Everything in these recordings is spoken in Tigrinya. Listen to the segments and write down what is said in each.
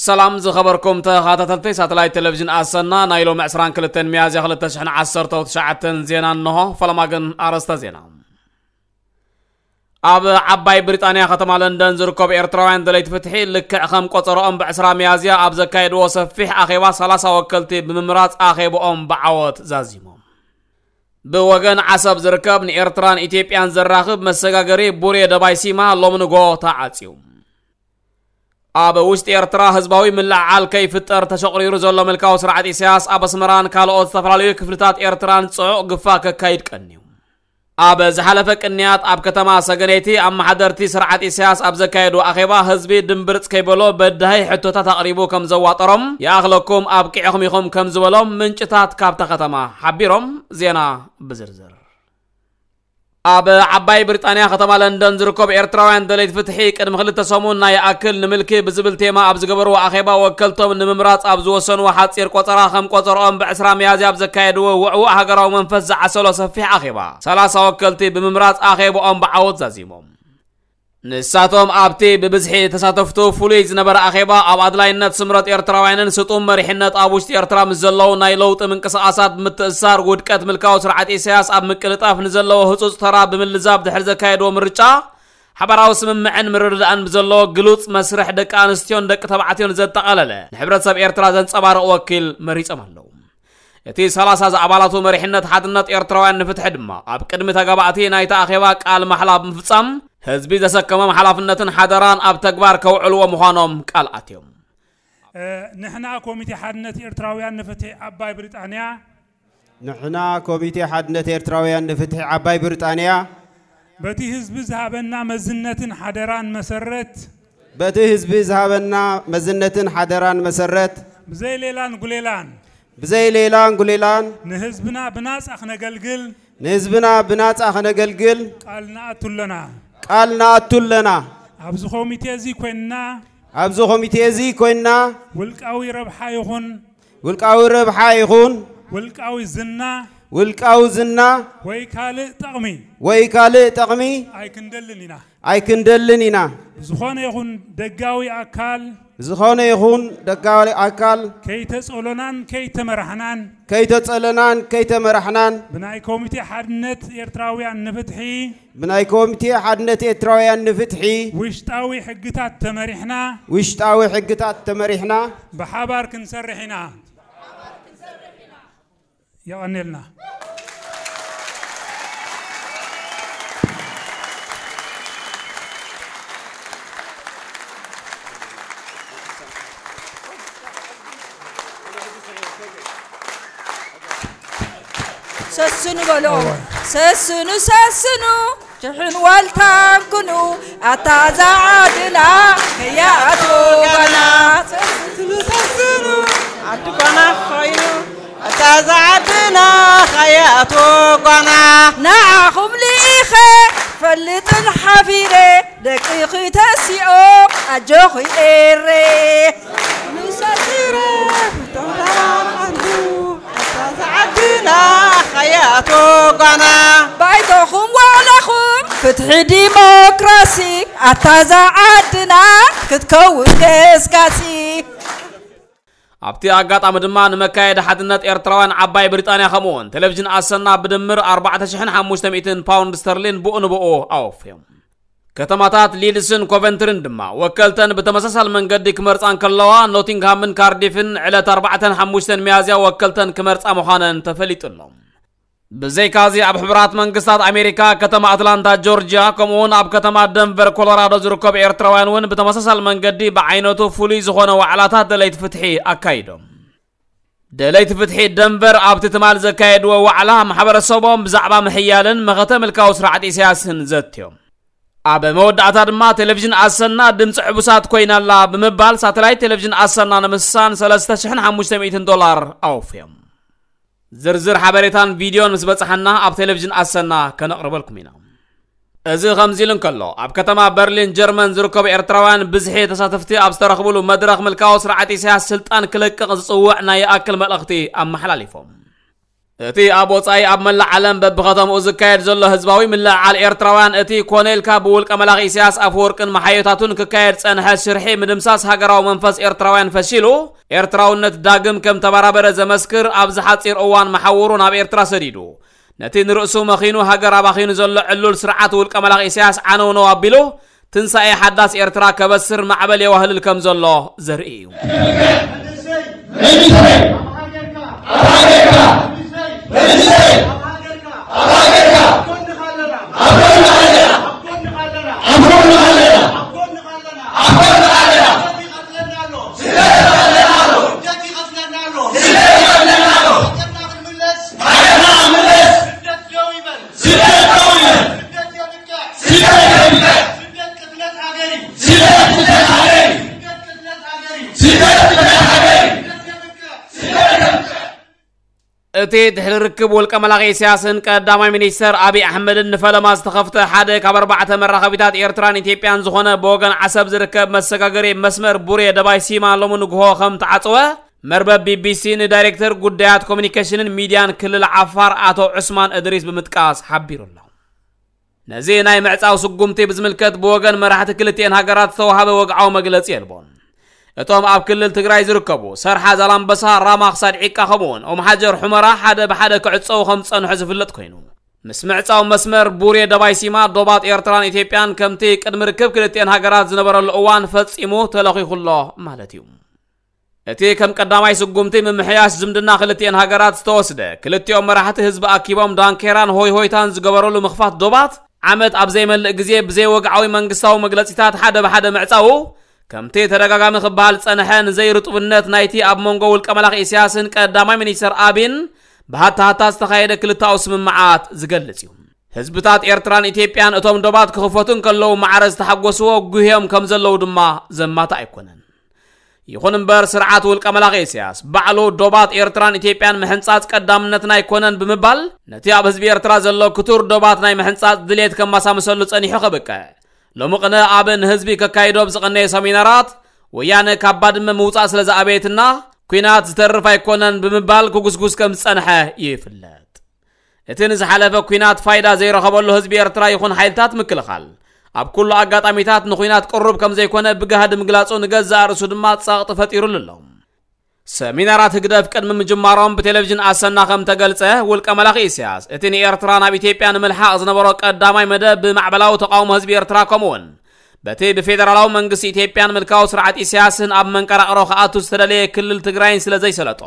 ሰላም ዝኸበርኩም ተኸታተልቲ ሳተላይት ቴሌቪዥን ኣሰና፣ ናይ ሎሚ ዕስራን ክልተን ሚያዝያ ክልተ ሽሕን ዓሰርተው ትሽዓተን ዜና እንሆ። ፈለማ ግን ኣርእስተ ዜና። ኣብ ዓባይ ብሪጣንያ ከተማ ለንደን ዝርከቡ ኤርትራውያን ደለይቲ ፍትሒ ልክዕ ከም ቆጸሮኦም ብዕስራ ሚያዝያ ኣብ ዘካየድዎ ሰፊሕ ኣኼባ ሰላሳ ወከልቲ ብምምራጽ ኣኼብኦም ብዓወት ዛዚሞም። ብወገን ዓሰብ ዝርከብ ንኤርትራን ኢትዮጵያን ዘራኽብ መሰጋገሪ ቡሬ ደባይ ሲማ ሎሚ ንጎ ተዓጽዩ። ኣብ ውሽጢ ኤርትራ ህዝባዊ ምልዕዓል ከይፍጠር ተሸቑሪሩ ዘሎ ምልካዊ ስርዓት ኢሳያስ ኣብ ኣስመራን ካልኦት ዝተፈላለዩ ክፍልታት ኤርትራን ጽዑቕ ግፋ ከካይድ ቀንዩ። ኣብ ዝሓለፈ ቅንያት ኣብ ከተማ ሰገነይቲ ኣመሓደርቲ ስርዓት ኢሳያስ ኣብ ዘካየዱ ኣኼባ ህዝቢ ድምብርጽ ከይበሎ በዳሂ ሕቶታት ኣቕሪቡ ከም ዘዋጠሮም ይኣኽለኩም ኣብቂዕኹም ኢኹም ከም ዝበሎም ምንጭታት ካብታ ከተማ ሓቢሮም። ዜና ብዝርዝር። ኣብ ዓባይ ብሪጣንያ ከተማ ለንደን ዝርከቡ ኤርትራውያን ደለይቲ ፍትሒ ቅድሚ ክልተ ሰሙን ናይ ይኣክል ንምልኪ ብዝብል ቴማ ኣብ ዝገበርዎ ኣኼባ ወከልቶም ንምምራጽ ኣብ ዝወሰንዎ ሓጺር ቆጸራ ከም ቆጸርኦም ብዕስራ ሚያዝያ ኣብ ዘካየድዎ ውዕዉዕ ሃገራዊ መንፈስ ዝዓሰሎ ሰፊሕ ኣኼባ ሰላሳ ወከልቲ ብምምራጽ ኣኼብኦም ብዓወት ዛዚሞም። ንሳቶም ኣብቲ ብብዝሒ ተሳተፍቱ ፍሉይ ዝነበረ ኣኼባ ኣብ ኣድላይነት ስምረት ኤርትራውያንን ስጡም መሪሕነት ኣብ ውሽጢ ኤርትራ ምስ ዘለዉ ናይ ለውጢ ምንቅስቓሳት ብምትእስሳር ውድቀት ምልካዊ ስርዓት ኢሳያስ ኣብ ምቅልጣፍ ንዘለዎ ህጹጽ ተራ ብምልዛብ ድሕሪ ዘካየድዎ ምርጫ ሓባራዊ ስምምዕን ምርድዳእን ብዘለዎ ግሉጽ መስርሕ ደቂ ኣንስትዮን ደቂ ተባዕትዮን ዘጠቓለለ ንሕብረተሰብ ኤርትራ ዘንጸባርቕ ወኪል መሪጾም ኣለዉ። እቲ ሰላሳ ዝኣባላቱ መሪሕነት ሓድነት ኤርትራውያን ንፍትሒ ድማ ኣብ ቅድሚ ተጋባእቲ ናይቲ ኣኼባ ቃል ማሕላ ብምፍጻም ህዝቢ ዘሰከሞም ሓላፍነትን ሓደራን ኣብ ተግባር ከውዕልዎ ምዃኖም ቃል ኣትዮም። እ፣ ንሕና ኮሚቴ ሓድነት ኤርትራውያን ንፍትሒ ዓባይ ብሪጣንያ ንሕና ኮሚቴ ሓድነት ኤርትራውያን ንፍትሒ ዓባይ ብሪጣንያ በቲ ህዝቢ ዝሃበና መዝነትን ሓደራን መሰረት በቲ ህዝቢ ዝሃበና መዝነትን ሓደራን መሰረት ብዘይ ሌላን ጉሌላን ብዘይ ሌላን ጉሌላን ንህዝብና ብናጻ ክነገልግል ንህዝብና ብናጻ ክነገልግል ቃል ንኣቱ ኣለና። ቃል ንኣቱ ኣለና። ኣብዚ ኮሚቴ እዚ ኮይንና ኣብዚ ኮሚቴ እዚ ኮይንና ውልቃዊ ረብሓ ይኹን ውልቃዊ ረብሓ ይኹን ውልቃዊ ዝና ውልቃዊ ዝና ወይ ካልእ ጠቕሚ ወይ ካልእ ጠቕሚ ኣይክንደልን ኢና። ኣይክንደልን ኢና። ዝኾነ ይኹን ደጋዊ ኣካል ዝኾነ ይኹን ደጋዊ ኣካል ከይተጸሎናን ከይተመራሕናን ከይተጸለናን ከይተመራሕናን ብናይ ኮሚቴ ሓድነት ኤርትራውያን ንፍትሒ ብናይ ኮሚቴ ሓድነት ኤርትራውያን ንፍትሒ ውሽጣዊ ሕግታት ተመሪሕና ውሽጣዊ ሕግታት ተመሪሕና ብሓባር ክንሰርሕ ኢና። የቐንየልና። ሰስኑ በሎ። ሰስኑ፣ ሰስኑ። ሽሕን ዋልታን ኩኑ ኣታ እዛ ዓድና ከይኣቱ ጓና። ሰስኑ ሰስኑ ዓዲ ጓና ኮይኑ ኣታ እዛ ዓድና ከይኣቱ ጓና። ንዓኹም ልኢኸ ፈልጥን ሓፊረ ደቂኺ ተሲኦም ኣጆኺ ኤረ። ሰስኑ ሰስኑ ዓዲ ጓና። ባይቶኹም ዋዕላኹም ፍትሒ ዲሞክራሲ ኣታ እዛ ዓድና ክትከውን ገስጋሲ። ኣብቲ ኣጋጣሚ ድማ ንመካየዲ ሓድነት ኤርትራውያን ዓባይ ብሪጣንያ ከምኡውን ቴሌቪዥን ኣሰና ብድምር ኣርባዕተ ሽሕን ሓሙሽተ ሚእትን ፓውንድ ስተርሊን ብኡ ንብኡ ኣወፍዮም። ከተማታት ሊድስን ኮቨንትሪን ድማ ወከልተን ብተመሳሳሊ መንገዲ ክመርጻ እንከለዋ፣ ኖቲንግሃምን ካርዲፍን ዕለት ኣርባዕተን ሓሙሽተን ሚያዝያ ወከልተን ክመርጻ ምዃነን ተፈሊጡ ኣሎ። ብዘይካዚ ኣብ ሕቡራት መንግስታት ኣሜሪካ ከተማ ኣትላንታ ጆርጅያ ከምኡውን ኣብ ከተማ ደንቨር ኮሎራዶ ዝርከቡ ኤርትራውያን እውን ብተመሳሳሊ መንገዲ ብዓይነቱ ፍሉይ ዝኾነ ዋዕላታት ደለይቲ ፍትሒ ኣካይዶም። ደለይቲ ፍትሒ ደንቨር ኣብቲ ትማል ዘካየድዎ ዋዕላ ማሕበረሰቦም ብዛዕባ ምሕያልን መኸተ ምልካዊ ስርዓት ኢሳያስን ዘትዮም። ኣብ መወዳእታ ድማ ቴሌቪዥን ኣሰና ድምፂ ዕቡሳት ኮይና ኣላ ብምባል ሳተላይት ቴሌቪዥን ኣሰና ንምስሳን ሰለስተ ሽሕን ሓሙሽተ ሚእትን ዶላር ኣወፍዮም። ዝርዝር ሓበሬታን ቪድዮን ምስ በጻሓና ኣብ ቴሌቪዥን ኣሰና ከነቕርበልኩም ኢና። እዚ ከምዚ ኢሉ እንከሎ፣ ኣብ ከተማ በርሊን ጀርመን ዝርከቡ ኤርትራውያን ብዝሒ ተሳተፍቲ ኣብ ዝተረኽብሉ መድረኽ ምልካዊ ስርዓት ኢሳያስ ስልጣን ክለቅቕ ዝጽውዕ ናይ ይኣክል መልእኽቲ ኣመሓላሊፎም። እቲ ኣብ ወጻኢ ኣብ መላእ ዓለም በብኸተምኡ ዝካየድ ዘሎ ህዝባዊ ምልዕዓል ኤርትራውያን፣ እቲ ኮነ ኢልካ ብውልቀ መላኺ ኢሳያስ ኣፈወርቅን መሓዮታቱን ክካየድ ጸንሐ ሽርሒ ምድምሳስ ሃገራዊ መንፈስ ኤርትራውያን ፈሺሉ፣ ኤርትራውነት ዳግም ከም ተበራበረ ዘመስክር፣ ኣብዚ ሓጺር እዋን መሓውሩ ናብ ኤርትራ ሰዲዱ፣ ነቲ ንርእሱ መኺኑ ሃገር ኣባኺኑ ዘሎ ዕሉል ስርዓት ውልቀ መላኺ ኢሳያስ ዓነውነው ኣቢሉ፣ ትንሳኤ ሓዳስ ኤርትራ ከበስር ማዕበል የዋህልል ከም ዘሎ ዘርኢ እዩ። እቲ ድሕሪ ርክብ ውልቀ መላኺ ኢሳያስን ቀዳማይ ሚኒስተር ኣብይ ኣሕመድን ንፈለማ ዝተኸፍተ ሓደ ካብ ኣርባዕተ መራኸቢታት ኤርትራን ኢትዮጵያን ዝኾነ ብወገን ዓሰብ ዝርከብ መሰጋገሪ መስመር ቡሬ ደባይ ሲማ ሎሚ ንግሆ ከም ተዓጽወ መርበብ ቢቢሲ ንዳይሬክተር ጉዳያት ኮሚኒኬሽንን ሚድያን ክልል ዓፋር ኣቶ ዑስማን እድሪስ ብምጥቃስ ሓቢሩ ኣሎ። ነዚ ናይ ምዕጻው ስጉምቲ ብዝምልከት ብወገን መራሕቲ ክልቲኤን ሃገራት ዝተዋሃበ ወግዓዊ መግለጺ የልቦን። እቶም ኣብ ክልል ትግራይ ዝርከቡ ሰርሓ ዛላምበሳ፣ ራማ ክሳድ ዒቃ ከምኡውን ኦምሓጀር ሑመራ ሓደ ብሓደ ክዕጸው ከም ዝጸንሑ ዝፍለጥ ኮይኑ፣ ምስ ምዕጻው መስመር ቡሬ ደባይ ሲማ ዶባት ኤርትራን ኢትዮጵያን ከምቲ ቅድሚ ርክብ ክልቲኤን ሃገራት ዝነበረሉ እዋን ፈጺሙ ተለኺኹ ኣሎ ማለት እዩ። እቲ ከም ቀዳማይ ስጉምቲ ምምሕያሽ ዝምድና ክልቲኤን ሃገራት ዝተወስደ፣ ክልቲኦም መራሕቲ ህዝቢ ኣኪቦም ዳንኬራን ሆይ ሆይታን ዝገበረሉ ምኽፋት ዶባት ዓመት ኣብ ዘይመልእ ግዜ ብዘይወግዓዊ መንግስታዊ መግለጺታት ሓደ ብሓደ ምዕጻዉ፣ ከምቲ ተደጋጋሚ ክበሃል ዝጸንሐ ንዘይርጡብነት ናይቲ ኣብ መንጎ ውልቀ መላኺ ኢሳያስን ቀዳማይ ሚኒስተር ኣቢን ብሃታሃታ ዝተኻየደ ክልተኣዊ ስምምዓት ዝገልጽ እዩ። ህዝብታት ኤርትራን ኢትዮጵያን እቶም ዶባት ክኽፈቱ እንከለዉ ማዕረ ዝተሓጎስዎ ጉህዮም ከም ዘለዉ ድማ ዘማታ ኣይኮነን። ይኹን እምበር ስርዓት ውልቀ መላኺ ኢሳያስ ባዕሉ ዶባት ኤርትራን ኢትዮጵያን ምሕንጻጽ ቀዳምነትና ኣይኮነን ብምባል ነቲ ኣብ ህዝቢ ኤርትራ ዘሎ ክቱር ዶባት ናይ ምሕንጻጽ ድሌት ከማሳምሰሉ ጸኒሑ ከብቅዕ ሎሚ ቅነ ኣብ ንህዝቢ ከካይዶ ብዝቐነየ ሰሚናራት ወያነ ካብ ባድመ ምውጻእ ስለ ዝኣበየትና ኲናት ዝተርፍ ኣይኮነን ብምባል ክጉስጉስ ከም ዝጸንሐ ይፍለጥ። እቲ ንዝሓለፈ ኲናት ፋይዳ ዘይረኸበሉ ህዝቢ ኤርትራ ይኹን ሓይልታት ምክልኻል ኣብ ኩሉ ኣጋጣሚታት ንኲናት ቅሩብ ከም ዘይኮነ ብጋህዲ ምግላጹ ንገዛእ ርእሱ ድማ ጸቕጢ ፈጢሩሉ ኣሎ። ሰሚናራት ህግደፍ ቅድሚ ምጅማሮም ብቴሌቪዥን ኣሰና ከም ተገልጸ ውልቀ መላኺ ኢሳያስ እቲ ንኤርትራ ናብ ኢትዮጵያ ንምልሓቕ ዝነበሮ ቀዳማይ መደብ ብማዕበላዊ ተቃውሞ ህዝቢ ኤርትራ ከምኡውን በቲ ብፌደራላዊ መንግስቲ ኢትዮጵያን ምልካዊ ስርዓት ኢሳያስን ኣብ መንቀራቕሮ ክኣቱ ዝተደለየ ክልል ትግራይን ስለ ዘይሰለጦ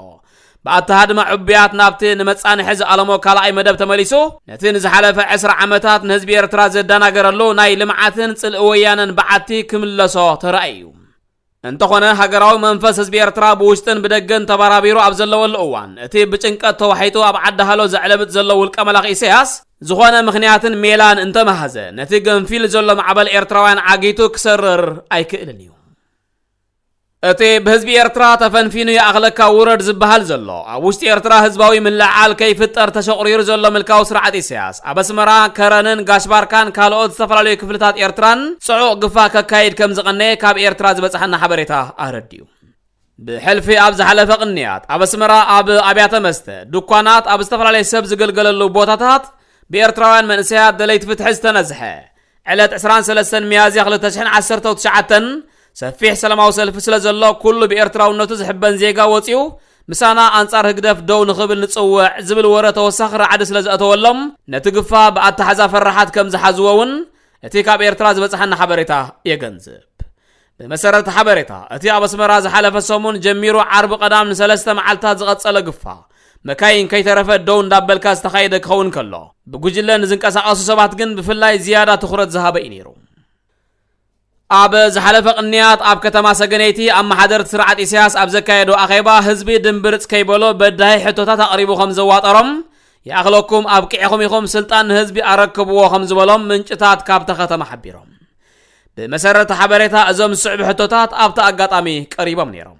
ብኣተሃድማ ዕቡያት ናብቲ ንመጻንሒ ዝኣለሞ ካልኣይ መደብ ተመሊሱ ነቲ ንዝሓለፈ ዕስራ ዓመታት ንህዝቢ ኤርትራ ዘደናገረሉ ናይ ልምዓትን ጽልኢ ወያነን በዓቲ ክምለሶ ተራእዩ። እንተኾነ ሃገራዊ መንፈስ ህዝቢ ኤርትራ ብውሽጥን ብደገን ተባራቢሩ ኣብ ዘለወሉ እዋን እቲ ብጭንቀት ተዋሒጡ ኣብ ዓዲ ሃሎ ዘዕለብጥ ዘሎ ውልቀ መላኺ ኢሳያስ ዝኾነ ምኽንያትን ሜላን እንተመሃዘ ነቲ ገንፊል ዘሎ ማዕበል ኤርትራውያን ዓጊቱ ክሰርር ኣይክእልን እዩ። እቲ ብህዝቢ ኤርትራ ተፈንፊኑ ይኣኽለካ ውረድ ዝበሃል ዘሎ ኣብ ውሽጢ ኤርትራ ህዝባዊ ምልዕዓል ከይፍጠር ተሸቑሪሩ ዘሎ ምልካዊ ስርዓት ኢሳያስ ኣብ ኣስመራ፣ ከረንን ጋሽባርካን ካልኦት ዝተፈላለዩ ክፍልታት ኤርትራን ጽዑቕ ግፋ ከካይድ ከም ዝቐነየ ካብ ኤርትራ ዝበጽሓና ሓበሬታ ኣረዲኡ። ብሕልፊ ኣብ ዝሓለፈ ቅንያት ኣብ ኣስመራ ኣብ ኣብያተ መስተ፣ ድኳናት፣ ኣብ ዝተፈላለየ ሰብ ዝግልገለሉ ቦታታት ብኤርትራውያን መንእሰያት ደለይቲ ፍትሒ ዝተነዝሐ ዕለት ዕስራን ሰለስተን ሚያዝያ ክልተ ሽሕን ዓሰርተው ትሽዓተን ሰፊሕ ሰላማዊ ሰልፊ ስለ ዘሎ ኩሉ ብኤርትራውነቱ ዝሕበን ዜጋ ወጺኡ ምሳና ኣንጻር ህግደፍ ደው ንኽብል ንጽውዕ ዝብል ወረ ተወሳኺ ራዕዲ ስለ ዘእተወሎም ነቲ ግፋ ብኣተሓዛ ፈራሓት ከም ዝሓዝዎ እውን እቲ ካብ ኤርትራ ዝበጽሓና ሓበሬታ የገንዝብ። ብመሰረት ሓበሬታ እቲ ኣብ ኣስመራ ዝሓለፈ ሰሙን ጀሚሩ ዓርቢ ቀዳም ንሰለስተ መዓልታት ዝቐጸለ ግፋ መካይን ከይተረፈ ደው እንዳበልካ ዝተኻየደ ክኸውን ከሎ ብጉጅለ ንዝንቀሳቐሱ ሰባት ግን ብፍላይ ዝያዳ ትኹረት ዝሃበ እዩ ነይሩ። ኣብ ዝሓለፈ ቅንያት ኣብ ከተማ ሰገነይቲ ኣመሓደርቲ ስርዓት ኢሳያስ ኣብ ዘካየዶ ኣኼባ ህዝቢ ድምብርጽ ከይበሎ በዳሂ ሕቶታት ኣቕሪቡ ከም ዘዋጠሮም ይኣኽለኩም ኣብቂዕኹም ኢኹም ስልጣን ንህዝቢ ኣረክብዎ ከም ዝበሎም ምንጭታት ካብታ ከተማ ሓቢሮም። ብመሰረት ሓበሬታ እዞም ዝስዕቡ ሕቶታት ኣብቲ ኣጋጣሚ ቀሪቦም ነይሮም።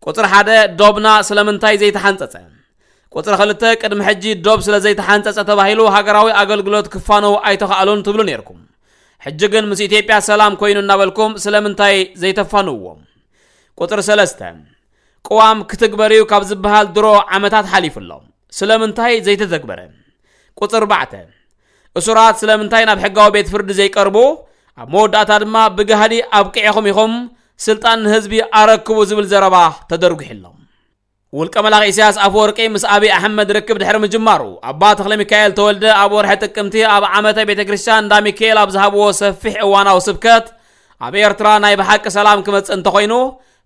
ቁጽሪ ሓደ፣ ዶብና ስለምንታይ ዘይተሓንጸጸ? ቁጽሪ ክልተ፣ ቅድሚ ሕጂ ዶብ ስለ ዘይተሓንጸጸ ተባሂሉ ሃገራዊ ኣገልግሎት ክፋነው ኣይተኻእሉን ትብሉ ነይርኩም። ሕጂ ግን ምስ ኢትዮጵያ ሰላም ኮይኑ እናበልኩም ስለምንታይ ዘይተፋንውዎም? ቁጽሪ ሰለስተ፣ ቅዋም ክትግበር እዩ ካብ ዝበሃል ድሮ ዓመታት ሓሊፉ ኣሎ። ስለምንታይ ዘይተተግበረ? ቁጽሪ ኣርባዕተ፣ እሱራት ስለምንታይ ናብ ሕጋዊ ቤት ፍርዲ ዘይቀርቡ? ኣብ መወዳእታ ድማ ብጋህዲ ኣብቂዕኹም ኢኹም፣ ስልጣን ንህዝቢ ኣረክቡ ዝብል ዘረባ ተደርጒሕሎም። ውልቀ መላኺ ኢሳያስ ኣፈወርቂ ምስ ኣብይ ኣሕመድ ርክብ ድሕሪ ምጅማሩ፣ ኣባ ተኽለ ሚካኤል ተወልደ ኣብ ወርሒ ጥቅምቲ ኣብ ዓመተ ቤተ ክርስቲያን እንዳ ሚካኤል ኣብ ዝሃብዎ ሰፊሕ እዋናዊ ስብከት፣ ኣብ ኤርትራ ናይ ብሓቂ ሰላም ክመጽእ እንተኾይኑ፣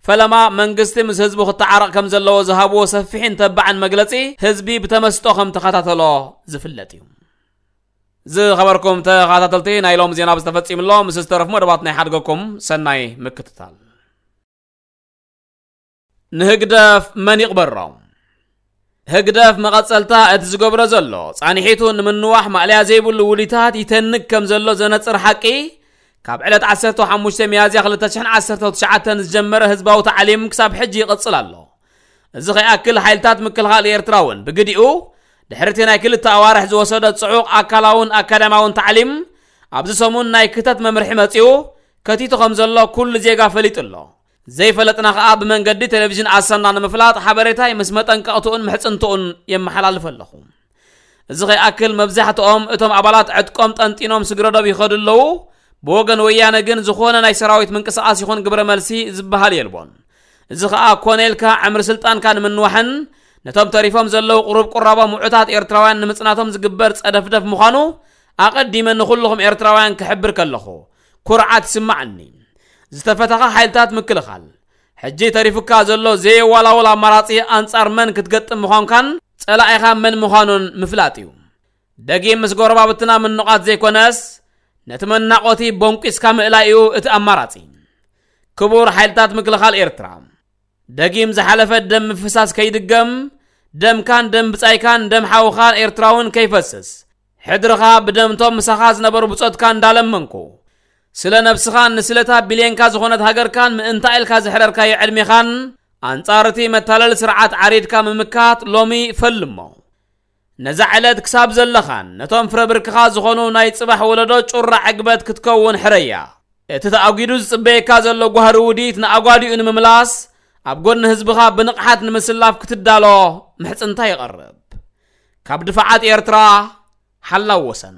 ፈለማ መንግስቲ ምስ ህዝቡ ክተዓረቕ ከም ዘለዎ ዝሃብዎ ሰፊሕን ተባዕን መግለጺ፣ ህዝቢ ብተመስጦ ከም ተኸታተሎ ዝፍለጥ እዩ። ዝኸበርኩም ተኸታተልቲ፣ ናይ ሎም ዜና ብዝተፈጺምሎ ምስ ዝተረፉ መደባት ናይ ሓድገኩም ሰናይ ምክትታል። ንህግደፍ መን ይቕበሮ? ህግደፍ መቐጸልታ እቲ ዝገብሮ ዘሎ ጻንሒቱ ንምንዋሕ ማእለያ ዘይብሉ ውዲታት ይተንግ ከም ዘሎ ዘነጽር ሓቂ፣ ካብ ዕለት ዓሰርተ ሓሙሽተ ሚያዝያ ክልተ ሽሕን ዓሰርተ ትሽዓተን ዝጀመረ ህዝባዊ ታዕሊም ክሳብ ሕጂ ይቕጽል ኣሎ። እዚ ከይኣክል ሓይልታት ምክልኻል ኤርትራ እውን ብግዲኡ ድሕርቲ ናይ ክልተ ኣዋርሕ ዝወሰደ ጽዑቕ ኣካላውን ኣካዳሚያውን ታዕሊም ኣብዚ ሰሙን ናይ ክተት መምርሒ መጺኡ ከቲቱ ከም ዘሎ ኩሉ ዜጋ ፈሊጡ ኣሎ። ዘይፈለጥና ከኣ ብመንገዲ ቴሌቪዥን ኣሰና ንምፍላጥ ሓበሬታይ ምስ መጠንቀቕትኡን ምሕጽንትኡን የመሓላልፍ ኣለኹ። እዚ ከይኣክል መብዛሕትኦም እቶም ኣባላት ዕጥቆም ጠንጢኖም ስግረዶብ ይኸዱ ኣለዉ። ብወገን ወያነ ግን ዝኾነ ናይ ሰራዊት ምንቅስቓስ ይኹን ግብረ መልሲ ዝበሃል የልቦን። እዚ ኸኣ ኮነ ኢልካ ዕምሪ ስልጣንካ ንምንዋሕን ነቶም ተሪፎም ዘለዉ ቁሩብ ቁራቦም ውዑታት ኤርትራውያን ንምጽናቶም ዝግበር ጸደፍደፍ ምዃኑ ኣቐዲመ ንኹልኹም ኤርትራውያን ክሕብር ከለኹ ኩርዓት ይስማዓኒ። ዝተፈተኻ ሓይልታት ምክልኻል፣ ሕጂ ተሪፉካ ዘሎ ዘየዋላውል ኣማራጺ ኣንጻር መን ክትገጥም ምዃንካን ጸላኢኻ መን ምዃኑን ምፍላጥ እዩ። ደጊም ምስ ጎረባብትና ምንቓት ዘይኮነስ፣ ነቲ መናቖቲ ቦንቂስካ ምእላይ እዩ እቲ ኣማራጺ። ክቡር ሓይልታት ምክልኻል ኤርትራ፣ ደጊም ዝሓለፈ ደም ምፍሳስ ከይድገም፣ ደምካን ደም ብጻይካን ደም ሓውኻን ኤርትራውን ከይፈስስ፣ ሕድርኻ ብደምቶም ምሳኻ ዝነበሩ ብጾትካ እንዳለመንኩ፣ ስለ ነብስኻን ንስለታ ቢልየንካ ዝኾነት ሃገርካን ምእንታ ኢልካ ዘሕረርካዮ ዕድሜኻን ኣንጻር እቲ መታለሊ ስርዓት ዓሪድካ ምምካት ሎሚ ፈልሞ። ነዛ ዕለት ክሳብ ዘለኻን ነቶም ፍረ ብርክኻ ዝኾኑ ናይ ጽባሕ ወለዶ ጩራ ዕግበት ክትከውን ሕረያ። እቲ ተኣጒዱ ዝጽበየካ ዘሎ ጓህሪ ውዲት ንኣጓዲኡ ንምምላስ ኣብ ጎኒ ህዝብኻ ብንቕሓት ንምስላፍ ክትዳሎ ምሕጽንታ ይቐርብ። ካብ ድፋዓት ኤርትራ ሓላው ወሰን።